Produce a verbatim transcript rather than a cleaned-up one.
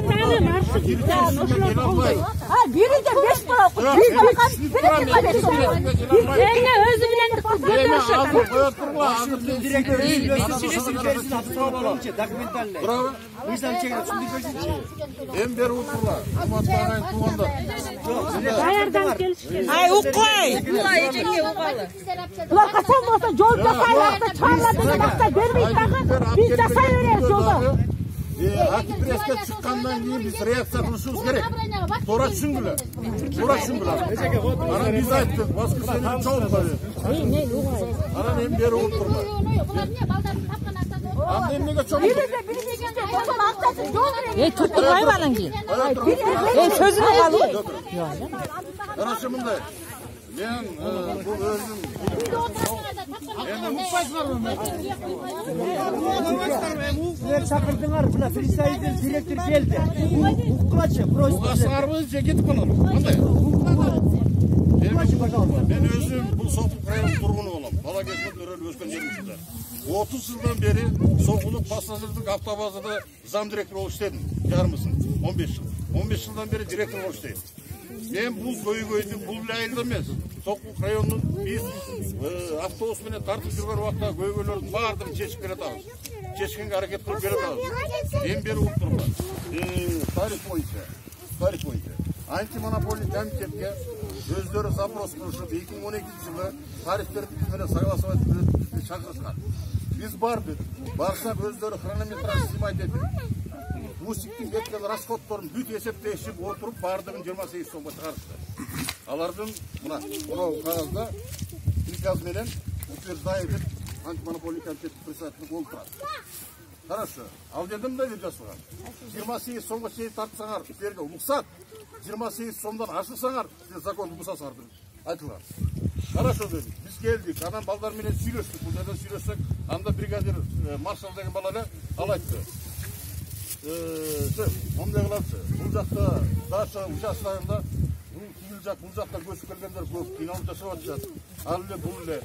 дагы маршрут бири де беш бала окуп, бири бакан, бири бакан. Эне өзү менен документальный. Браво. Мыйзам чегип түшүндүрүп берсинчи. Эми бери утурлар. Урматтаган туугандар. Даярдан келишкен. Ай, укпай. Булар эжекке угалы. Булар качан болсо жол жасайларды чыгарла деген акча бербейт дагы. Биз жасай беребиз жолду. Антипресске чыккандан кийин биз реакция кылышыбыз керек. Туура түшүнгүлө. Туура түшүнгүлө. Анан биз айттык, воскресенье чогуу коюп. Анан эми бери утурлар. Анда эмнеге чогуу? Бири де бири дегенде ошол акчасы жол беребиз. Эй, туттурбайбы анан кийин? Эй, сөзүнө калбы? Карашы мындай. Мен бул өзүм Силер чакырдыңар, мына представитель директор келди. Уккылачы, просьба. Угасыңарбы же кетип калалы? Кандай? Мен өзүм бул Сокулук районунун тургуну болом. Бала кезинен өрөлүп өскөн жерим ушунда. отуз жылдан бери Сокулук пассажирдик автобазада зам директор болуп иштедим. Жарымысын он беш жыл. он беш жылдан бери директор болуп иштейм. Мен бул көйгөйдү бул айылда эмес. Сокулук районунун биз автобус менен тартып жүргөн убакта көйгөйлөрдүн баардыгын чечип келатабыз. Чечкенге аракет кылып келатабыз. Эми бери утурлар. Тариф боюнча, тариф боюнча антимонополий комитетке өздөрү запрос кылышып эки миң он экинчи жылы тарифтерди биз менен согласовать этип чакырышкан. Биз бардык. Барсак өздөрү хронометраж снимать этип Мусиктин кеткен расходторун бүт эсептешип отуруп баардыгын жыйырма сегиз сомго чыгарышты. Алардын мына мына кагазда приказ менен утверждаю деп антимонополий комитеттин председателин кол турат. Хорошо. Ал жерде мындай деп жазылган. жыйырма сегиз сомго чейин тартсаңар, силерге уруксат. жыйырма сегиз сомдон ашырсаңар, силер законду бусасыңар деп айтылган. Хорошо дедик. Биз келдик. Анан балдар менен сүйлөштүк. Бул жерден сүйлөшсөк, анда бригадир маршал деген бала эле ал айтты. Мындай кылабыз. Бул жакта Даша участкасында бул тигил жак, бул жакта көчүп келгендер көп, кыйналып жашап атышат. Ал эле бул эле